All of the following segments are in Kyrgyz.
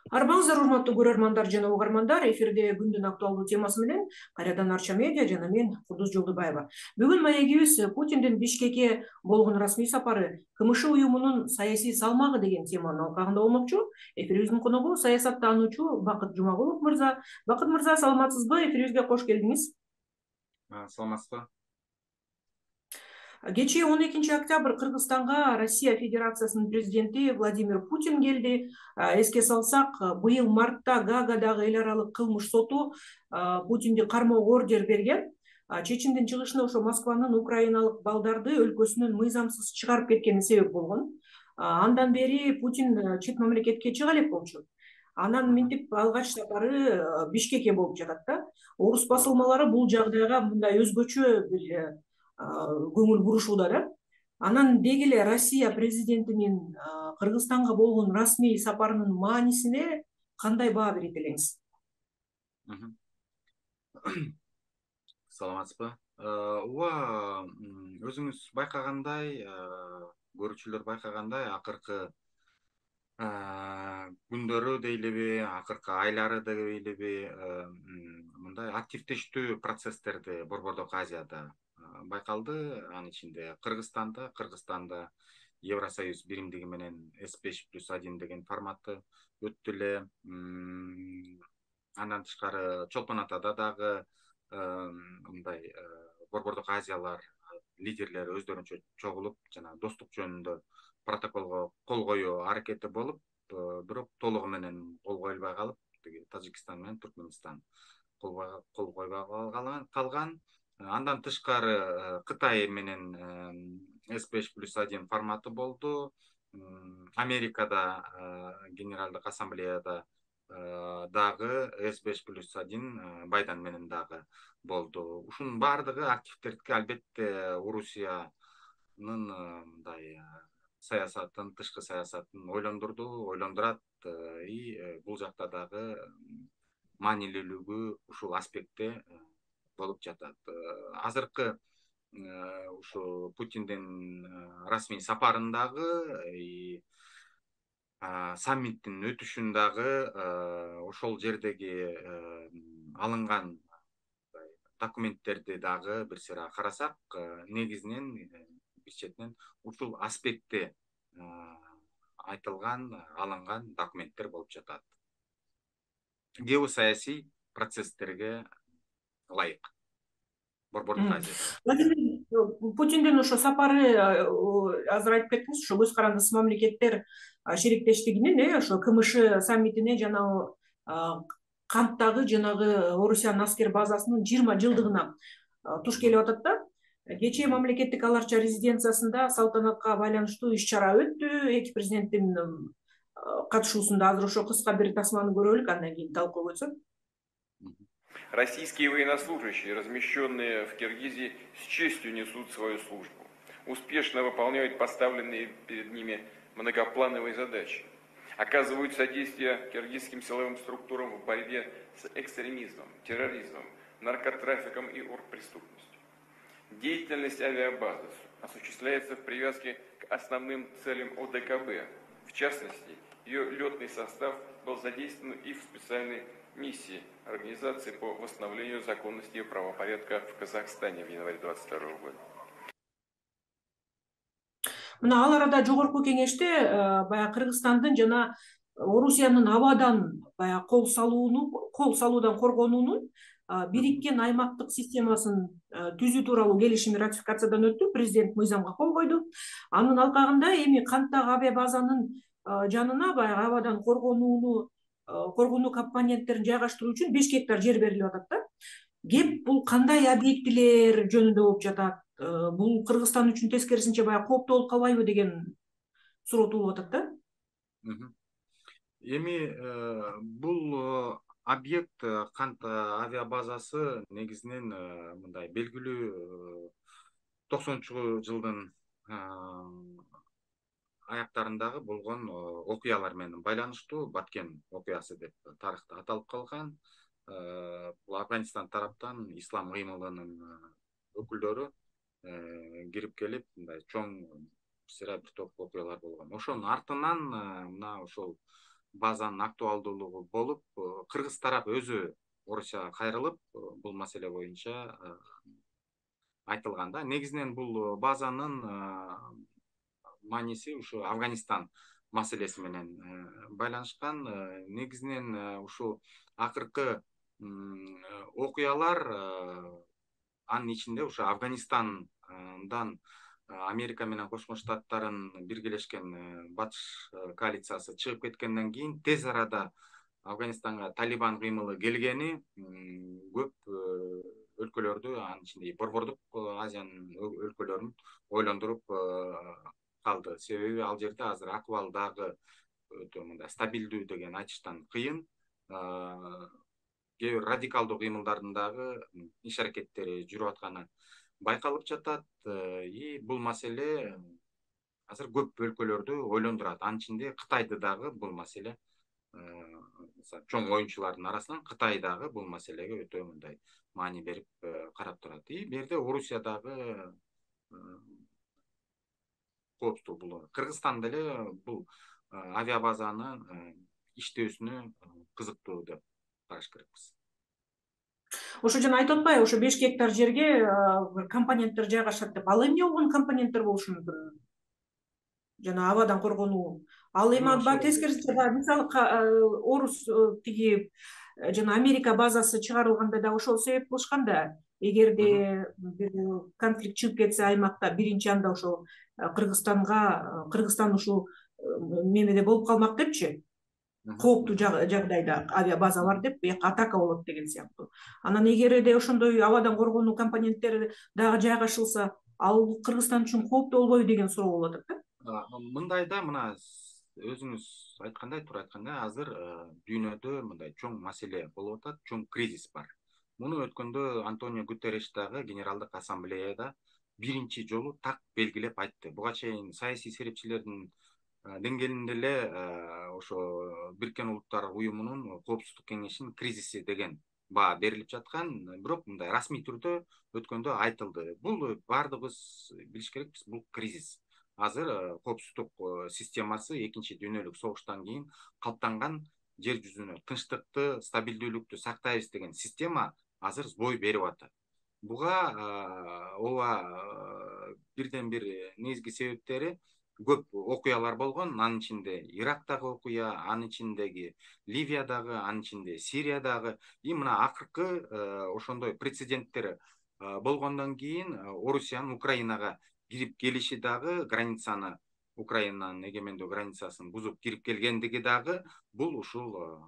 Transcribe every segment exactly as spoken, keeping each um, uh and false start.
Арбаңыздар, урматтуу көрөрмандар жана угармандар, эфирде күндүн актуалдуу темасы менен кайрадан Арча медиа жана мен Кудуз Жолдубаева. Бүгүн маегибиз Путиндин Бишкекке болгон расмий сапары КМШ уюмунун саясий салмагы деген теманын алкагында болмокчу. Эфирибиздин коногу саясаттануучу Бакыт Жумагулов мырза. Бакыт мырза, саламатсызбы? Эфирибизге кош келдиңиз. Саламатсызбы? Кечээ он экинчи октябрь Кыргызстанга Россия Федерациясынын президенти Владимир Путин келди. Эске салсак, быйыл мартта Гаагадагы эл аралык кылмыш соту Путинди кармоого ордер берген. Чечимдин чыгышына ошо Москванын украиналык балдарды өлкөсүнөн мыйзамсыз чыгарып кеткени себеп болгон. Андан бери Путин чет мамлекетке чыга элек болчу. Анан минтип алгач сапары Бишкекке болуп жатат да. Орус басылмалары бул жагдайга мындай өзгөчө бир көңүл бурушууда да. Анан деги эле Россия президентинин Кыргызстанга болгон расмий сапарынын маанисине кандай баа берет элеңиз? Саламатсызбы? Ооба, өзүңүз байкагандай, көрүүчүлөр байкагандай, акыркы күндөрү дейлиби, акыркы айлары дейлиби, мындай активдештүү процесстерди Борбордук Азияда байкалды. Анын ичинде Кыргызстанда, Кыргызстанда Евросоюз биримдиги менен эс беш плюс один деген форматы өттү эле. Андан тышкары Чолпон Атада дагы мындай Борбордук Азиялар лидерлери өздөрүнчө чогулуп, жана достук жөнүндө протоколго кол коюу аракети болуп, бирок толугу менен кол коюлбай калып, Тажикстан менен Түркмөнстан кол койбой калган. Андан тышкары Кытай менен эс беш плюс один форматы болду. Америкада Генералдык ассамблеяда дагы эс беш плюс один Байден менен дагы болду. Ушунун баардыгы активдерге албетте Орусиянын мындай саясатын, тышкы саясатын ойлондурду, ойлондурат. И бул жакта дагы маанилүүлүгү ушул аспектте болуп жатат. Азыркы ушу Путиндин расмий сапарындагы, саммиттин өтүшүндагы ошол жердеги алынган документтерди дагы бир сыйра карасак, негизинен бир четинен ушул аспектте айтылган, алынган документтер болуп жатат. Геосаясий процесстерге ылайык. Борбордук Азияда. Путиндин ошо сапары, азыр айтып кеттиңиз, ошо көз карандысыз мамлекеттер шериктештигинин, э, ошо КМШ саммитине жана Канттагы жанагы Орусиянын аскер базасынын жыйырма жылдыгына туш келип атат да. Кечээ мамлекеттик аларча резиденциясында салтанатка байланыштуу иш-чара өттү. Эки президенттин катышуусунда азыр ошо кыска бир тасманы көрөлүк, андан кийин талкуу өтсөт. Российские военнослужащие, размещенные в Киргизии, с честью несут свою службу, успешно выполняют поставленные перед ними многоплановые задачи, оказывают содействие киргизским силовым структурам в борьбе с экстремизмом, терроризмом, наркотрафиком и оргпреступностью. Деятельность авиабазы осуществляется в привязке к основным целям О Д К Б. В частности, ее летный состав был задействован и в специальной миссии Организации по восстановлению законности и правопорядка в Казахстане в январе двадцать второго года. Мына ал арада жогорку кеңеште баягы Кыргызстандын жана Орусиянын абадан баягы кол салууну, кол салуудан коргонуунун бириккен аймактык системасын түзүү тууралуу келишими ратификациядан өттү. Президент мыйзамга кол койду. Анын алкагында эми Канттагы авиабазанын жанына баягы абадан коргонууну коргонуу компоненттерин жайгаштыруу үчүн беш гектар жер берилип атат да. Кеп бул кандай объектилер жөнүндө болуп жатат? Бул Кыргызстан үчүн тескерисинче баягы кооптуу болуп калбайбы деген суроо туулуп атат да. Эми бул объект Кант авиабазасы негизинен мындай белгилүү токсонунчу жылдын аяктарындагы болгон окуялар менен байланыштуу Баткен окуясы деп тарыхта аталып калган. Бул Афганистан тараптан ислам кыймылынын өкүлдөрү кирип келип, мындай чоң сыра бир топ окуялар болгон. Ошонун артынан мына ошол базанын актуалдуулугу болуп, кыргыз тарап өзү Орусияга кайрылып, бул маселе боюнча айтылган да. Негизинен бул базанын мааниси ушу Афганистан маселеси менен байланышкан. Негизинен ушул акыркы окуялар анын ичинде ушу Афганистандан Америка менен Кошмо Штаттардын биргелешкен батыш коалициясы чыгып кеткенден кийин тез арада Афганистанга Талибан кыймылы келгени көп өлкөлөрдү, анын ичинде Борбордук Азиянын өлкөлөрүн ойлондуруп калды. Себеби ал жерде азыр акыбал дагы өтө мындай стабилдүү деген айтыштан кыйын. Кээ бир радикалдуу кыймылдардын дагы иш аракеттери жүрүп атканы байкалып жатат. И бул маселе азыр көп өлкөлөрдү ойлондурат. Анын ичинде Кытайды дагы бул маселе, чоң оюнчулардын арасынан Кытай дагы бул маселеге өтө мындай маани берип карап турат. И бул жерде Орусия дагы кооптуу. Бул Кыргызстан деле бул авиабазаны иштөөсүнө кызыктуу деп караш керекпиз. Ошо жана айтып атпайбы, ошо беш гектар жерге компоненттер жайгашат деп. Ал эмне болгон компоненттер болушу мүмкүн? Жана абадан коргонуу. Ал эми ба тескерисинче, мисалы Орус тиги жана Америка базасы чыгарылганда да ошол себеп кылышкан да. Эгерде бир конфликт чыгып кетсе аймакта, биринчи анда ошол Кыргызстанга, Кыргызстан ушул мемеде болуп калмак депчи. Кооптуу жагдайда авиабаза бар деп, бияка атака болот деген сыяктуу. Анан эгерде ошондой абадан коргонуу компоненттери дагы жайгашылса, ал Кыргызстан үчүн кооптуу болбойбу деген суроо болуп атат да. Мындай да, мына өзүңүз айткандай, туура айткандай, азыр дүйнөдө мындай чоң маселе болуп атат, чоң кризис бар. Муну өткөндө Антонио Гутерриш дагы Генералдык ассамблеяда биринчи жолу так белгилеп айтты. Буга чейин саясий серепчилердин деңгээлинде эле ошо Бириккен Улуттар Уюмунун Коопсуздук кеңешинин кризиси деген баа берилип жаткан, бирок мындай расмий түрдө өткөндө айтылды. Бул баардыгыбыз билиш керекпиз, бул кризис. Азыр коопсуздук системасы экинчи дүйнөлүк согуштан кийин калыптанган жер жүзүнө тынчтыкты, стабилдүүлүктү сактайбыз деген система азыр бой берип атат. Буга ооба бирден бир негизги себептери көп окуялар болгон. Анын ичинде Ирактагы окуя, анын ичиндеги Ливиядагы, анын ичинде Сириядагы. И мына акыркы ошондой прецеденттер болгондон кийин Орусиянын Украинага кирип келиши дагы, границаны, Украинанын эгемендүү границасын бузуп кирип келгендиги дагы бул ушул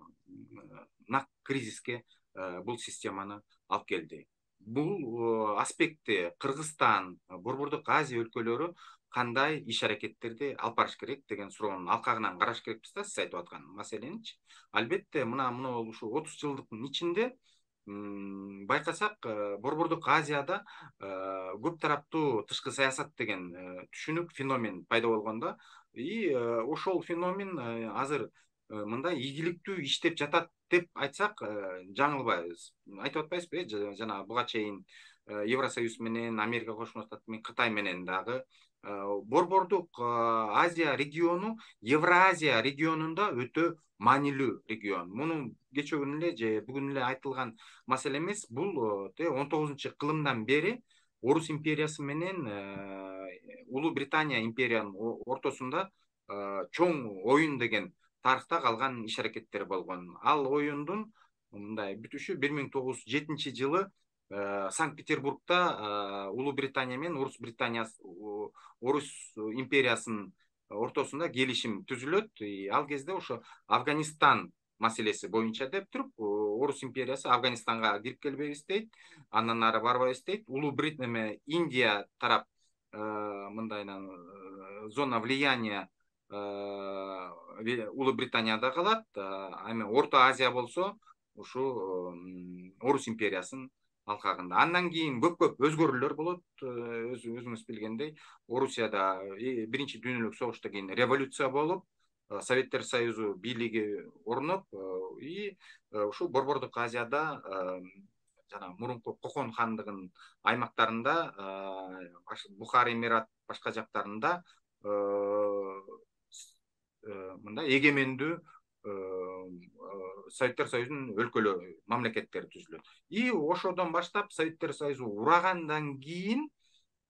нак кризиске бул системаны алып келди. Бул аспектте Кыргызстан, Борбордук Азия өлкөлөрү кандай иш аракеттерди алып барыш керек деген суроонун алкагынан караш керекпиз да, сиз айтып аткан маселеничи. Албетте, мына мына ушул отуз жылдыктын ичинде байкасак, Борбордук Азияда көп тараптуу тышкы саясат деген түшүнүк, феномен пайда болгон да. И ошол феномен азыр мындай ийгиликтүү иштеп жатат деп айтсак жаңылбайбыз. Айтып атпайбызбы, жана буга чейин Евросоюз менен, Америка Кошмо Штаты менен, Кытай менен дагы Борбордук Азия региону Евразия регионунда өтө маанилүү регион. Муну кечээ күнү эле же бүгүн эле айтылган маселе эмес. Бул он тогузунчу кылымдан бери Орус империясы менен Улуу Британия империянын ортосунда чоң оюн деген тарыхта калган иш аракеттер болгон. Ал оюндун мындай бүтүшү бир миң тогуз жүз жетинчи жылы Санкт-Петербургда Улуу Британия менен Орус Британиясы, Орус империясынын ортосунда келишим түзүлөт. Ал кезде ошо Афганистан маселеси боюнча деп туруп, Орус империясы Афганистанга кирип келбейбиз дейт, андан ары барбайбыз дейт. Улуу Британия, Индия тарап мындайнан зона влияния Улуу Британияда калат. Эми Орто Азия болсо ушу Орус империясынын алкагында. Андан кийин көп-көп өзгөрүүлөр болот. Өзүңүз билгендей, Орусияда биринчи дүйнөлүк согуштан кийин революция болуп, Советтер Союзу бийлиги орноп, и ушул Борбордук Азияда жана мурунку Кокон хандыгынын аймактарында, Бухар Эмират башка жактарында мындай эгемендүү Советтер Союзунун өлкөлөрү, мамлекеттери түзүлөт. И ошодон баштап Советтер Союзу урагандан кийин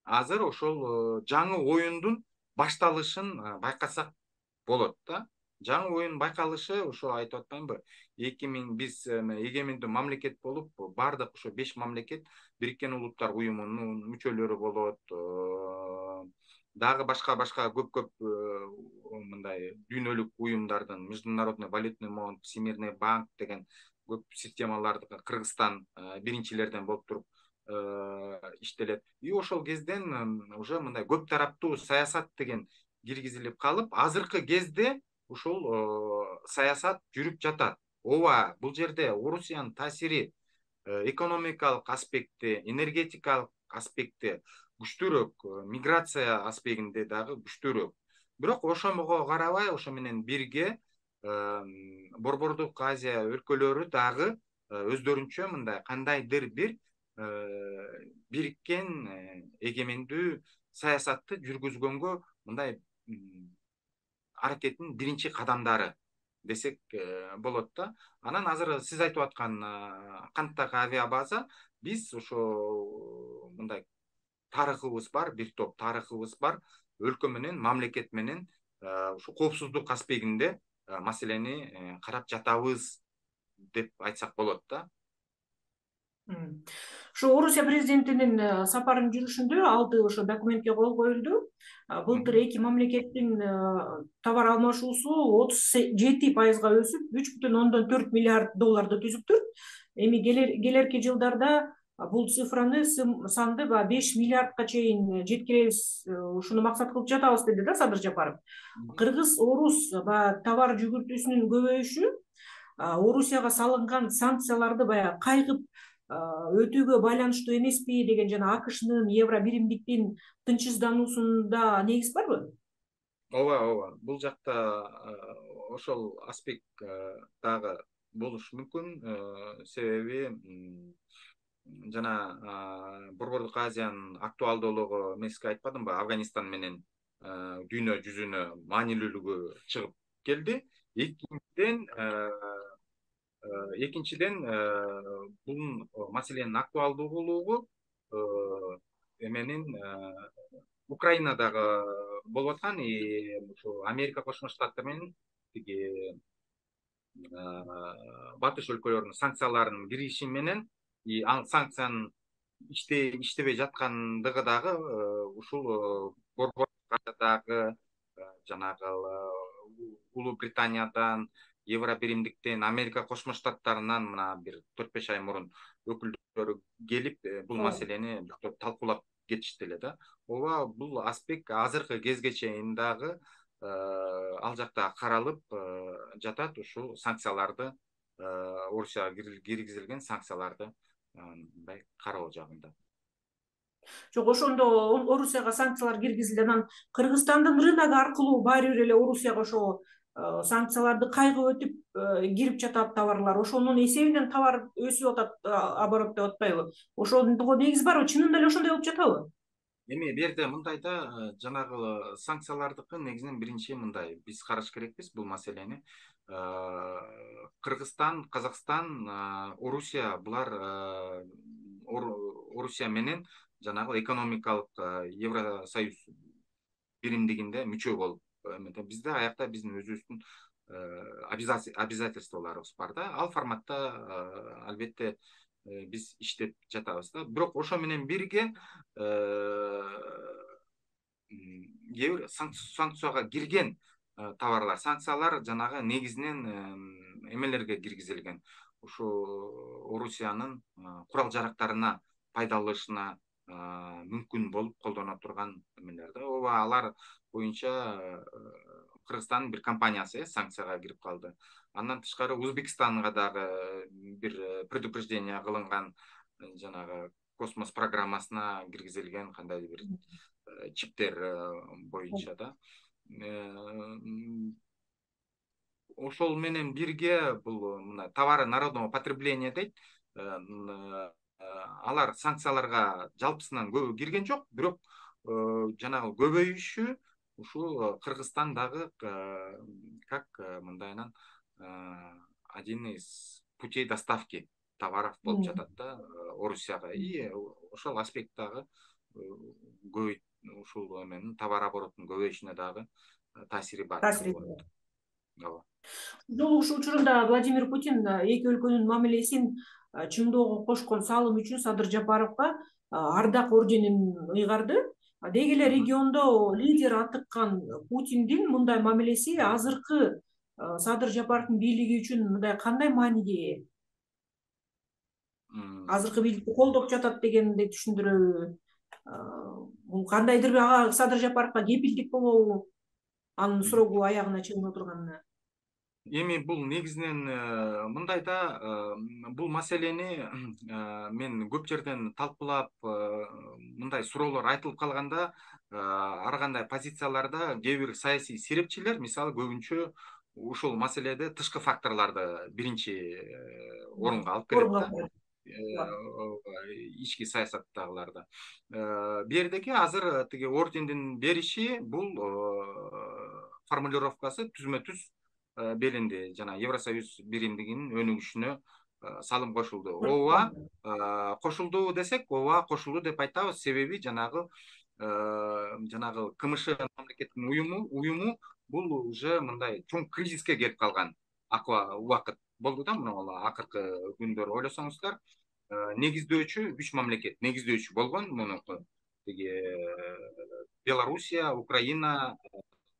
азыр ошол жаңы оюндун башталышын байкасак болот да. Жаңы оюн байкалышы ошо айтып атпаймынбы? эки миң биз эгемендүү мамлекет болуп, бардык ошо беш мамлекет Бириккен Улуттар уюмунун мүчөлөрү болот. Дагы башка-башка көп-көп мындай дүйнөлүк уюмдардын, Международный валютный фонд, Всемирный банк деген көп системаларды Кыргызстан биринчилерден болуп туруп иштелет. И ошол кезден уже мындай көп тараптуу саясат деген киргизилип калып, азыркы кезде ушул саясат жүрүп жатат. Ооба, бул жерде Орусиянын таасири экономикалык аспекти, энергетикалык аспекти күчтүүрөөк, миграция аспегинде дагы күчтүүрөөк. Бирок ошого карабай, ошо менен бирге Борбордук Азия өлкөлөрү дагы өздөрүнчө мындай кандайдыр бир бириккен эгемендүү саясатты жүргүзгөнгө мындай аракеттин биринчи кадамдары десек болот да. Анан азыр сиз айтып аткан канттагы авиабаза, биз ошо мындай тарыхыбыз бар, бир топ тарыхыбыз бар, өлкө менен, мамлекет менен ушу коопсуздук аспегинде маселени карап жатабыз деп айтсак болот да. Ошо Орусия президентинин сапарын жүрүшүндө алты ошо документке кол коюлду. Былтыр эки мамлекеттин товар алмашуусу отуз жети пайызга өсүп, үч бүтүн ондон төрт миллиард долларды түзүптүр. Эми келерки жылдарда бул цифраны санды беш миллиардка чейин жеткиребиз, ушуну максат кылып жатабыз деди да Садыр Жапаров. Кыргыз-орус товар жүгүртүүсүнүн көбөйүшү Орусияга салынган санкцияларды баягы кайгып өтүүгө байланыштуу эмеспи деген жана АКШнын евро биримдиктин тынчсыздануусунда негиз барбы? Ооба, ооба. Бул жакта ошол аспект дагы болушу мүмкүн. Себеби жана Борбордук Азиянын актуалдуулугу мен сизге айтпадымбы, Афганистан менен дүйнө жүзүнө маанилүүлүгү чыгып келди. Экинчиден Экинчиден бул маселенин актуалдуулугу эменин Украинадагы болуп аткан, ушу Америка Кошмо Штаттары менен тиги батыш өлкөлөрүнүн санкцияларынын кириши менен, ал санкциянын иштебей жаткандыгы дагы ушул Борбордагы жанагы Улуу Британиядан, Евро биримдиктен, Америка Кошмо Штаттарынан мына бир төрт беш ай мурун өкүлдөрү келип, бул маселени талкуулап кетишти эле да. Ооба, бул аспект азыркы кезге чейин дагы ал жакта каралып жатат, ушул санкцияларды, Орусияга киргизилген санкцияларды мындай кароо жагында. Жок, ошондо Орусияга санкциялар киргизилди, анан Кыргызстандын рыногу аркылуу баары бир эле Орусияга ошо санкцияларды кайгып өтүп кирип жатат товарлар. Ошонун эсебинен товар өсүп атат, оборот деп атпайбы? Ошондого негиз барбы? Чынында эле ошондой болуп жатабы? Эми бу жерде мындай да, жанагы санкциялардыкы негизинен биринчи мындай биз караш керекпиз бул маселени. Кыргызстан, Казакстан, Орусия булар Орусия менен жанагы экономикалык Евросоюз биримдигинде мүчө болуп, бизде аякта биздин өзүбүздүн обязательстволорубуз бар да. Ал форматта албетте биз иштеп жатабыз да. Бирок ошо менен бирге санкцияга кирген товарлар, санкциялар жанагы негизинен эмелерге киргизилген. Ушу Орусиянын курал жарактарына пайдаланышына мүмкүн болуп колдоно турган эмелер да. Ооба, алар боюнча Кыргызстандын бир компаниясы санкцияга кирип калды. Андан тышкары Өзбекстанга дагы бир предупреждение кылынган, жанагы космос программасына киргизилген кандайдыр бир чиптер боюнча да. Ошол менен бирге бул мына товары народного потребления дейт. Алар санкцияларга жалпысынан көбү кирген жок, бирок жанагы көбөйүшү ушул Кыргызстан дагы как мындайынан один из путей доставки товаров болуп жатат да Орусияга. И ошол аспект дагы көбөйт, ушул эменин товар оборотунун көбөйүшүнө дагы таасири бар. Таасири. Ооба. Жолу ушул учурунда Владимир Путин эки өлкөнүн мамилесин чыңдоого кошкон салым үчүн Садыр Жапаровго ардак орденин ыйгарды. Деги эле региондо лидер атыккан Путиндин мындай мамилеси азыркы Садыр Жапаровдун бийлиги үчүн мындай кандай мааниге? Азыркы бийликти колдоп жатат дегенди түшүндүрөбү? Бул кандайдыр бир ага Садыр Жапаровго кепилдик болобу? Анын сурогу аягына чыгып отурганына. Эми бул негизинен мындай да, бул маселени мен көп жерден талкуулап, мындай суроолор айтылып калганда, ар кандай позицияларда кээ бир саясий серепчилер мисалы көбүнчө ушул маселеде тышкы факторлорду биринчи орунга алып келет да. Ички саясаттагыларда. Бердеки азыр тиги ордендин бериши бул формулировкасы түзмө-түз белинди, жана Евросоюз биримдигинин өнүгүшүнө салым кошулду. Ооба, кошулду десек, ооба кошулду деп айтабыз, себеби жанагы жанагы КМШ мамлекеттин уюму уюму бул уже мындай чоң кризиске келип калган убакыт болду да, мына акыркы күндөр ойлосоңуздар, негиздөөчү үч мамлекет, негиздөөчү болгон мунуку тиги Белоруссия, Украина,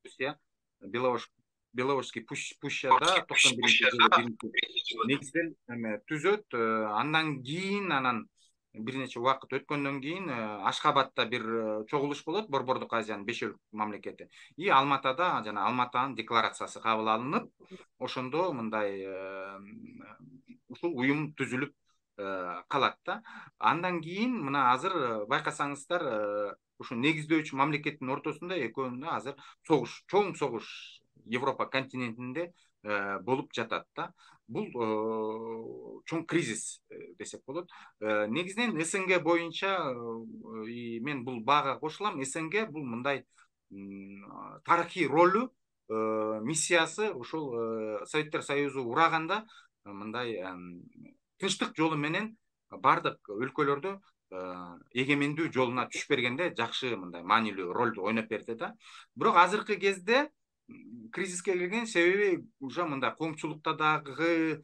Русия, Белорусь Белорусский пущада токсон биринчи жылы негизден түзөт. Андан кийин анан бир нече убакыт өткөндөн кийин Ашхабадта бир чогулуш болот, Борбордук Азиянын беш өлкө мамлекети. И Алматада жана Алматанын декларациясы кабыл алынып, ошондо мындай ушул уюм түзүлүп калат да. Андан кийин мына азыр байкасаңыздар, ушу негиздөөчү мамлекеттин ортосунда экөөнүндө азыр согуш, чоң согуш Европа континентинде болуп жатат да. Бул чоң кризис десек болот. Негизинен СНГ боюнча мен бул баага кошулам. СНГ бул мындай тарыхый ролу, миссиясы ушул Советтер Союзу ураганда мындай тынчтык жолу менен бардык өлкөлөрдө эгемендүү жолуна түшүп бергенде жакшы мындай маанилүү ролду ойноп берди да. Бирок азыркы кезде кризиске келген себеби уже мындай коомчулукта дагы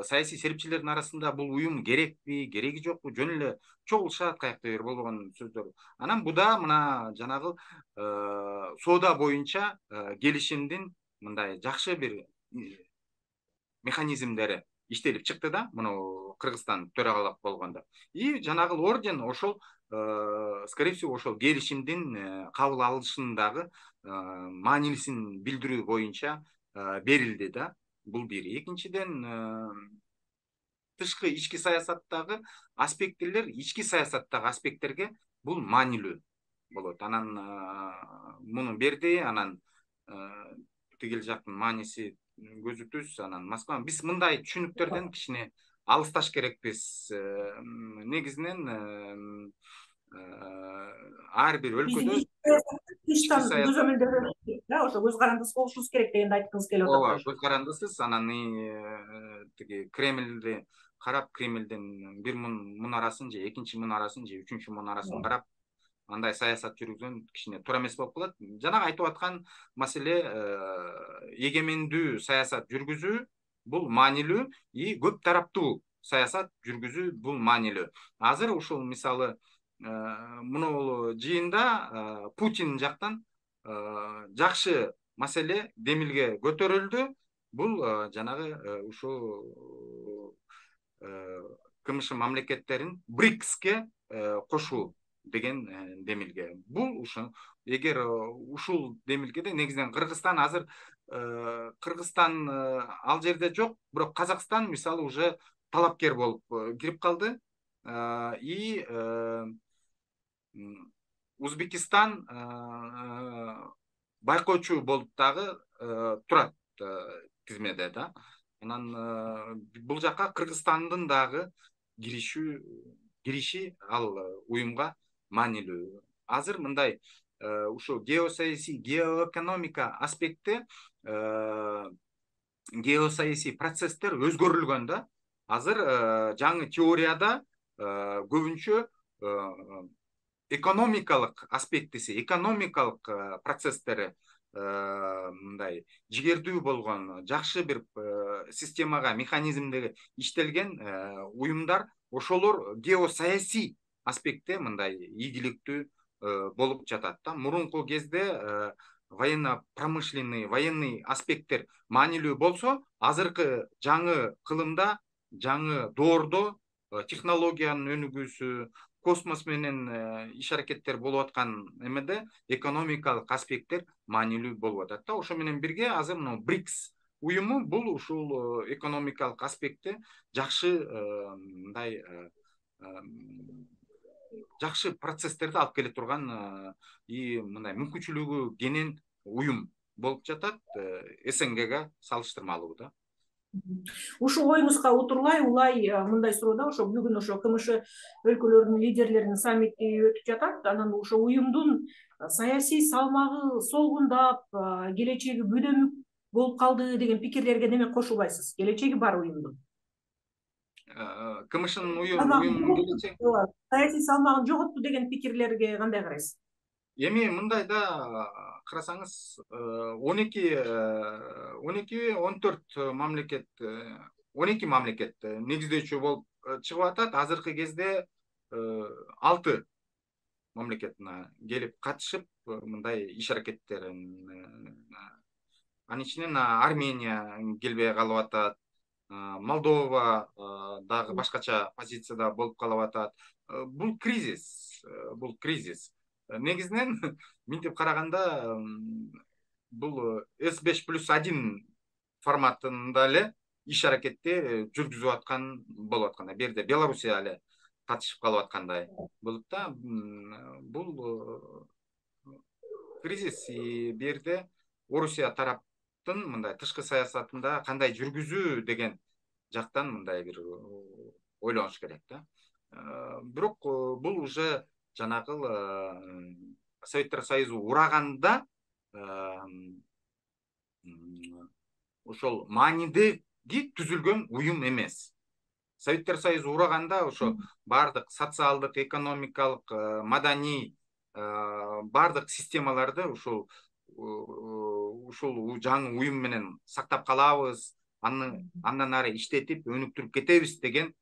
саясий серепчилердин арасында бул уюм керекпи, кереги жокпу, жөн эле чогулушат, каякта бир болгон сөздөр. Анан буда мына жанагы соода боюнча келишимдин мындай жакшы бир механизмдери иштелип чыкты да, мына Кыргызстан төрагалык болгондо. И жанагы орден ошол скорее всего ошол келишимдин кабыл алышындагы маанилисин билдирүү боюнча берилди да. Бул бир. Экинчиден, тышкы ички саясаттагы аспекттер, ички саясаттагы аспекттерге бул маанилүү болот. Анан муну берди, анан тигил жактын мааниси көзү түз, анан Москва. Биз мындай түшүнүктөрдөн кичине алысташ керекпиз. Негизинен ар бир өлкөдө тыштан көзөмөлдөрү да, ошо көз карандысыз болушубуз керек дегенди айткыңыз келип атат. Ооба, көз карандысыз. Анан тиги Кремлди карап, Кремлдин бир мунарасын же экинчи мунарасын же үчүнчү мунарасын карап, андай саясат жүргүзгөн кичине туура эмес болуп калат. Жанагы айтып аткан маселе эгемендүү саясат жүргүзүү бул маанилүү, и көп тараптуу саясат жүргүзүү бул маанилүү. Азыр ушул мисалы мунул жыйында Путин жактан жакшы маселе демилге көтөрүлдү. Бул жанагы ушул КМШ мамлекеттерин БРИКСке кошуу деген демилге. Бул ушул эгер ушул демилгеде негизинен Кыргызстан азыр Кыргызстан ал жерде жок, бирок Казакстан мисалы уже талапкер болуп кирип калды. И Узбекистан байкоочу болуп дагы турат тизмеде да. Анан бул жака Кыргызстандын дагы киришүү кириши ал уюмга маанилүү. Азыр мындай ушул геосаясий, геоэкономика аспекти геосаясий процесстер өзгөрүлгөн да. Азыр жаңы теорияда көбүнчө экономикалык аспектиси, экономикалык процесстери мындай жигердүү болгон, жакшы бир системага, механизмдеги иштелген уюмдар, ошолор геосаясий аспектте мындай ийгиликтүү болуп жатат да. Мурунку кезде военно-промышленный, военный аспекттер маанилүү болсо, азыркы жаңы кылымда, жаңы доордо технологиянын өнүгүүсү, космос менен иш аракеттер болуп аткан эмеде экономикалык аспекттер маанилүү болуп атат да. Ошо менен бирге азыр мына брикс уюму бул ушул экономикалык аспектте жакшы мындай жакшы процесстерди алып келе турган и мындай мүмкүнчүлүгү кенен уюм болуп жатат, СНГга салыштырмалуу да. Ушул оюңузга утурлай улай мындай суроо да, ошо бүгүн ошо КМШ өлкөлөрүнүн лидерлеринин саммити өтүп жатат. Анан ошо уюмдун саясий салмагы солгундап, келечеги бөдөмүк болуп калды деген пикирлерге неме кошулайсыз? Келечеги бар уюмдун. КМШнын уюмунун келечеги саясий салмагын жоготту деген пикирлерге кандай карайсыз? Эми мындай да карасаңыз, он эки он эки он төрт мамлекет он эки мамлекет негиздөөчү болуп чыгып атат. Азыркы кезде алты мамлекет келип катышып мындай иш аракеттерин, анын ичинен Армения келбей калып атат, Молдова дагы башкача позицияда болуп калып атат. Бул кризис, бул кризис. Негизинен мынтип караганда бул эс беш плюс один форматында эле иш аракетти жүргүзүп аткан болуп аткандай. Бул жерде Белоруссия эле катышып калып аткандай болуп да. Бул кризис бул жерде Орусия тараптын мындай тышкы саясатында кандай жүргүзүү деген жактан мындай бир ойлонуш керек да. Бирок бул уже жанагы Советтер Союзу ураганда ошол маанидеги түзүлгөн уюм эмес. Советтер Союзу ураганда ошо бардык социалдык, экономикалык, маданий бардык системаларды ушул ушул жаңы уюм менен сактап калабыз, андан ары иштетип, өнүктүрүп кетебиз деген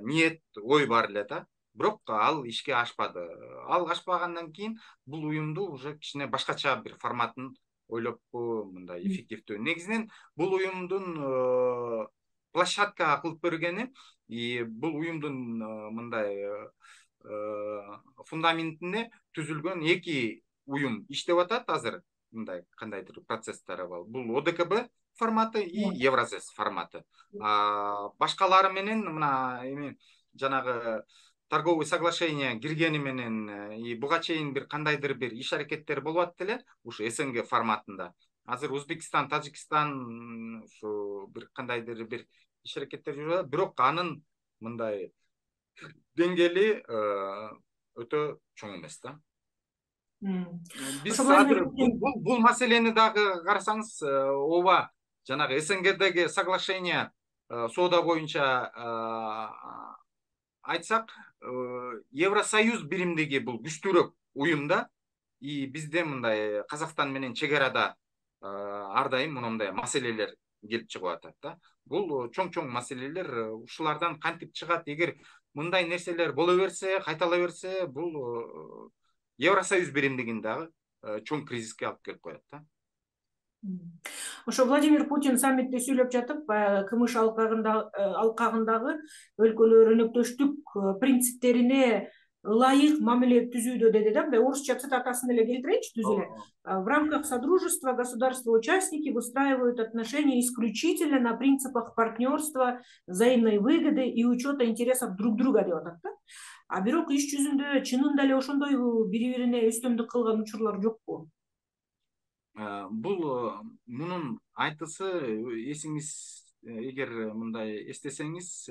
ниет, ой бар эле да. Бирок ал ишке ашпады. Ал ашпагандан кийин бул уюмду уже кичине башкача бир форматын ойлоп мындай эффективдүү. Негизинен бул уюмдун площадка кылып бергени, бул уюмдун мындай фундаментине түзүлгөн эки уюм иштеп атат азыр. Мындай кандайдыр процесстер бар. Бул О Д К Б форматы и Евразес форматы. Башкалары менен мына эми жанагы торговый соглашение киргени менен и буга чейин бир кандайдыр бир иш аракеттер болуп атты эле ушу СНГ форматында. Азыр Өзбекстан, Тажикстан ушу бир кандайдыр бир иш аракеттер жүрүп атат, бирок анын мындай деңгээли өтө чоң эмес да. Биз азыр бул маселени дагы карасаңыз, ооба, жанагы СНГдеги соглашение соода боюнча айтсак, Евросоюз биримдиги бул күчтүүрөөк уюмда, и бизде мындай Казакстан менен чек арада ар дайым мындай маселелер келип чыгып атат да. Бул чоң-чоң маселелер, ушулардан кантип чыгат? Эгер мындай нерселер боло берсе, кайтала берсе, бул Евросоюз биримдигин дагы чоң кризиске алып келип коет да. Ошо Владимир Путин саммитте сүйлөп жатып, КМШ алкагындагы өлкөлөр өнөктөштүк принциптерине ылайык мамиле түзүүдө деди да. Мындай орусча цитатасын эле келтирейинчи түз эле. В рамках содружества государства-участники выстраивают отношения исключительно на принципах партнерства, взаимной выгоды и учета интересов друг друга деп атат да. А бирок иш жүзүндө чынында эле ошондойбу бири-бирине үстөмдүк кылган учурлар жокпу? Бул мунун айтысы, эсиңиз эгер мындай эстесеңиз,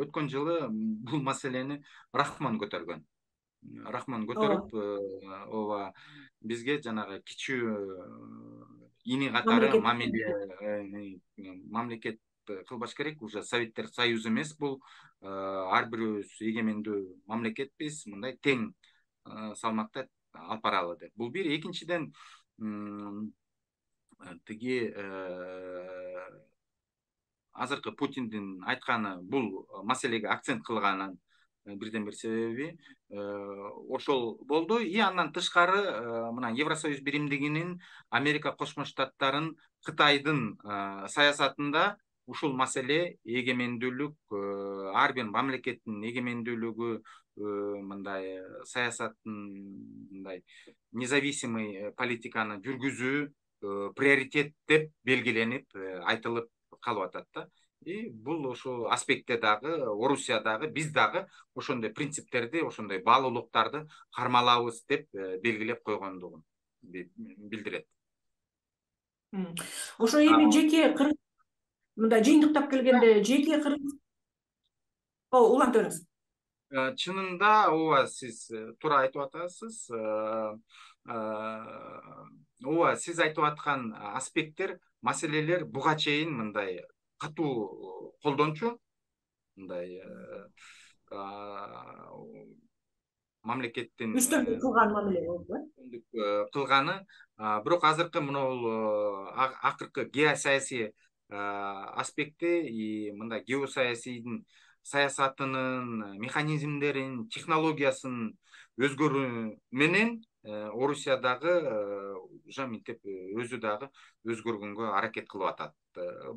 өткөн жылы бул маселени Рахман көтөргөн. Рахман көтөрүп, ооба, бизге жанагы кичүү ини катары мамиле мамлекет кылбаш керек. Уже Советтер Союзу эмес, бул ар бирибиз эгемендүү мамлекетпиз, мындай тең салмакта алып баралы деп. Бул бир. Экинчиден, тиги азыркы Путиндин айтканы бул маселеге акцент кылганын бирден бир себеби ошол болду. И андан тышкары мына Евросоюз биримдигинин, Америка Кошмо Штаттарын, Кытайдын саясатында ушул маселе эгемендүүлүк, ар бир мамлекеттин эгемендүүлүгү, мындай саясаттын мындай независимый политиканы жүргүзүү приоритет деп белгиленип айтылып калып атат да. И бул ошол аспектте дагы Орусия дагы биз дагы ошондой принциптерди, ошондой баалуулуктарды кармалабыз деп белгилеп койгондугун билдирет. Ошо эми жеке мындай жыйынтыктап келгенде жеке Кыргыз улантып бериңиз. Чынында ооба, сиз туура айтып атасыз. Ооба, сиз айтып аткан аспекттер, маселелер буга чейин мындай катуу колдончу, мындай мамлекеттин үстөмдүк кылган мамиле болду, кылганы. Бирок азыркы мына акыркы геосаясий аспекти и мындай геосаясийдин саясатынын механизмдерин, технологиясын өзгөрүү менен Орусия дагы уже мынтип өзү дагы өзгөргөнгө аракет кылып атат.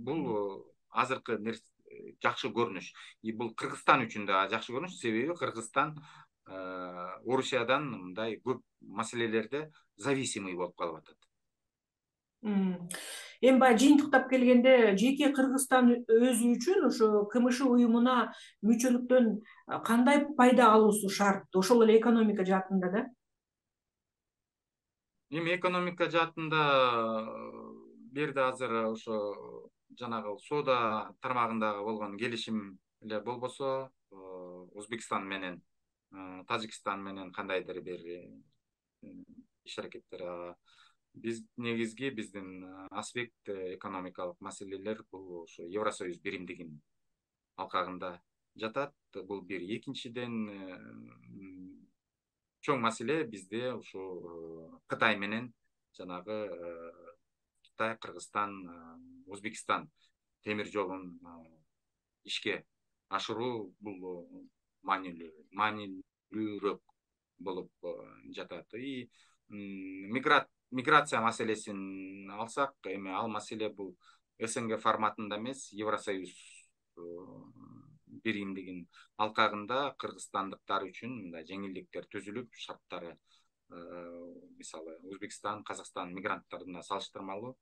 Бул азыркы жакшы көрүнүш. И бул Кыргызстан үчүн да жакшы көрүнүш, себеби Кыргызстан Орусиядан мындай көп маселелерде зависимый болуп калып атат. Эми баягы жыйынтыктап келгенде жеке Кыргызстан өзү үчүн ошо КМШ уюмуна мүчөлүктөн кандай пайда алуусу шарт? Ошол эле экономика жаатында да? Эми экономика жаатында бул жерде азыр ошо жанагы соода тармагындагы болгон келишим эле болбосо, Өзбекстан менен Тажикстан менен кандайдыр бир иш аракеттер, биз негизги биздин аспект экономикалык маселелер бул ошо Евросоюз биримдигинин алкагында жатат. Бул бир. Экинчиден, чоң маселе бизде ушул Кытай менен жанагы Кытай, Кыргызстан, Өзбекстан темир жолун ишке ашыруу бул маанилүүрөөк болуп жатат. И миграция маселесин алсак, эми ал маселе бул СНГ форматында эмес, Евросоюз биримдигинин алкагында кыргызстандыктар үчүн мындай жеңилдиктер түзүлүп, шарттары мисалы Өзбекстан, Казакстан мигранттарына салыштырмалуу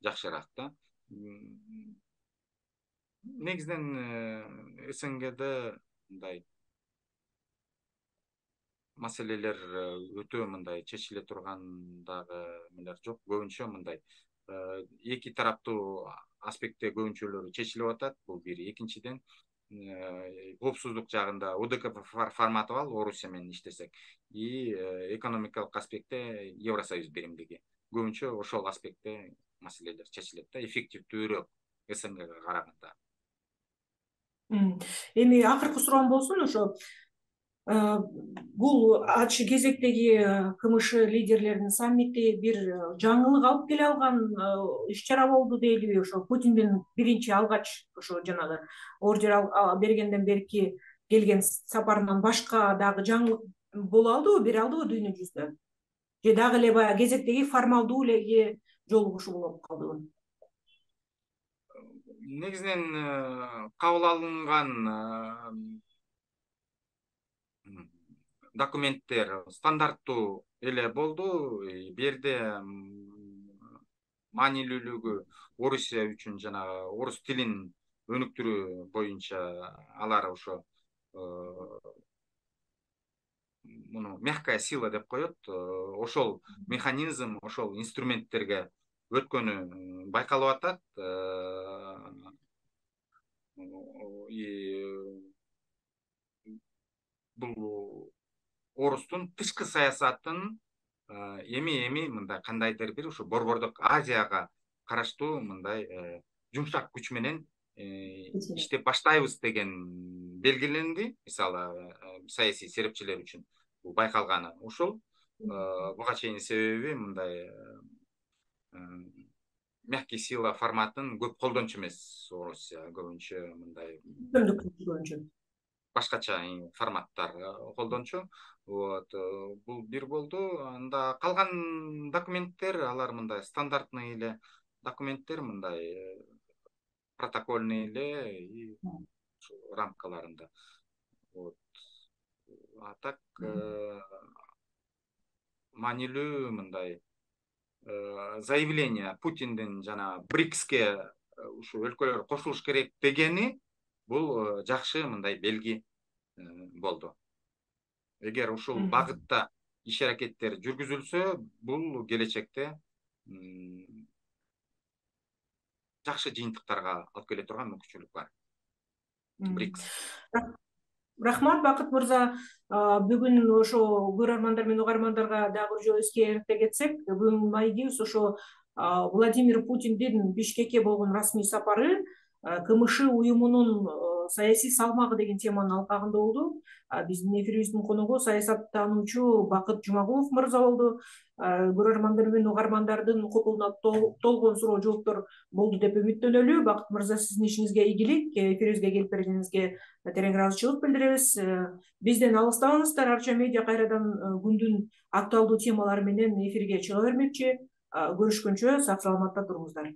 жакшыраак да. Негизинен СНГде мындай маселелер өтө мындай чечиле турган дагы эмелер жок. Көбүнчө мындай эки тараптуу аспектте көбүнчөлөрү чечилип атат. Бул бир. Экинчиден, коопсуздук жагында ОДКБ форматы бар, Орусия менен иштесек, и экономикалык аспектте Евросоюз биримдиги. Көбүнчө ошол аспектте маселелер чечилет да, эффективдүүрөөк СНГга караганда. Эми акыркы суроом болсун, ошо бул ачы кезектеги КМШ лидерлеринин саммити бир жаңылык алып келе алган иш-чара болду дейлиби? Ошо Путиндин биринчи алгач ошо жанагы ордер бергенден берки келген сапарынан башка дагы жаңылык боло алдыбы, бере алдыбы дүйнө жүзүндө? Же дагы эле баягы кезектеги формалдуу эле жолугушуу болуп калдыбы? Негизинен кабыл алынган документтер стандарттуу эле болду. Бу жерде маанилүүлүгү Орусия үчүн жанагы орус тилин өнүктүрүү боюнча алар ошо муну мягкая сила деп коет. Ошол механизм, ошол инструменттерге өткөнү байкалып атат. Бул орустун тышкы саясатын эми-эми мындай кандайдыр бир ушу Борбордук Азияга караштуу мындай жумшак күч менен иштеп баштайбыз деген белгиленди. Мисалы саясий серепчилер үчүн бул байкалганы ошол. Буга чейин себеби мындай мягкий сила форматын көп колдончу эмес Орусия, көбүнчө мындай башкача форматтар колдончу. Вот бул бир болду. Анда калган документтер алар мындай стандартный эле документтер, мындай протокольный эле рамкаларында. Вот. А так маанилүү мындай заявление Путиндин жана БРИКСке ушу өлкөлөр кошулуш керек дегени бул жакшы мындай белги болду. Эгер ушул багытта иш аракеттер жүргүзүлсө, бул келечекте жакшы жыйынтыктарга алып келе турган мүмкүнчүлүк бар. БРИКС. Рахмат, Бакыт мырза. Бүгүн ошо көрөрмандар менен угармандарга дагы бир жолу эскертип кетсек, бүгүн майгибиз ошо Владимир Путиндин Бишкекке болгон расмий сапары КМШ уюмунун саясий салмагы деген теманын алкагында болду. Биздин эфирибиздин коногу саясаттануучу Бакыт Жумагулов мырза болду. Көрөрмандар менен угармандардын копулуна толгон суроо жооптор болду деп үмүттөнөлү. Бакыт мырза, сиздин ишиңизге ийгилик, эфирибизге келип бергениңизге терең ыраазычылык билдиребиз. Бизден алыстабаңыздар. Арча медиа кайрадан күндүн актуалдуу темалары менен эфирге чыга бермекчи. Көрүшкөнчө сак саламатта туруңуздар.